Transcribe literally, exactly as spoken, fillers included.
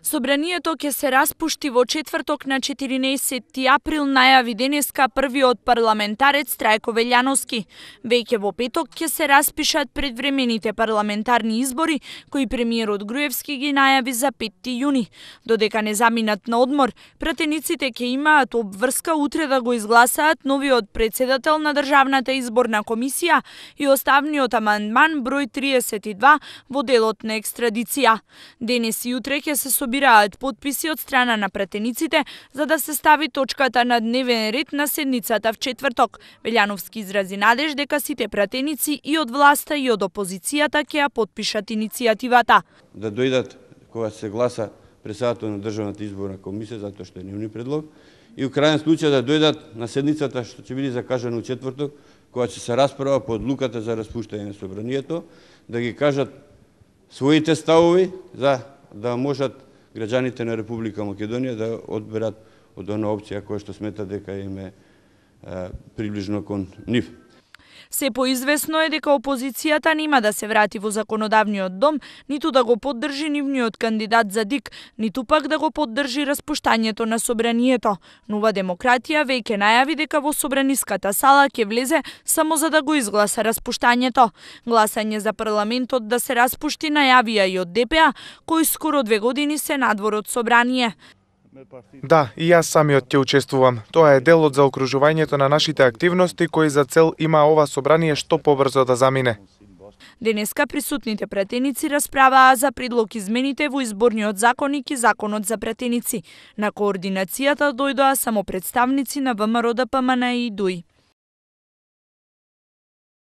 Собранието ќе се распушти во четврток на четиринаесети април, најави денеска првиот парламентарец Трајко Велјановски. Веќе во петок ќе се распишат предвремените парламентарни избори, кои премиерот Груевски ги најави за петти јуни. Додека не заминат на одмор, пратениците ќе имаат обврска утре да го изгласаат новиот председател на Државната изборна комисија и оставниот амандман број триесет и два во делот на екстрадиција. Денес и утре ќе се собираат потписи од страна на пратениците за да се стави точката на дневен ред на седницата в четврток. Велјановски изрази надеж дека сите пратеници и од власта и од опозицијата ќе ја потпишат иницијативата. Да дојдат кога се гласа председател на Државната изборна комисија, затоа што е нивни предлог, и у крајен случај да дојдат на седницата што ќе биде закажана у четврток, кога ќе се расправа по одлуката за распуштање на собранието, да ги кажат своите ставови за да можат граѓаните на Република Македонија да одберат од она опција која што смета дека им е, е приближно кон нив. Се поизвестно е дека опозицијата нема да се врати во законодавниот дом, ниту да го поддржи нивниот кандидат за ДИК, ниту пак да го поддржи распуштањето на собранието. Нова демократија веќе најави дека во собраниската сала ќе влезе само за да го изгласа распуштањето. Гласање за парламентот да се распушти најавија и од ДПА, кој скоро две години се надвор од собрание. Да, и јас самиот ќе учествувам. Тоа е дел од заокружувањето на нашите активности кои за цел има ова собрание што побрзо да замине. Денеска присутните пратеници расправаа за предлог измените во изборниот законник и законот за пратеници. На координацијата дојдоа само представници на ВМРО ДПМН и ДУИ.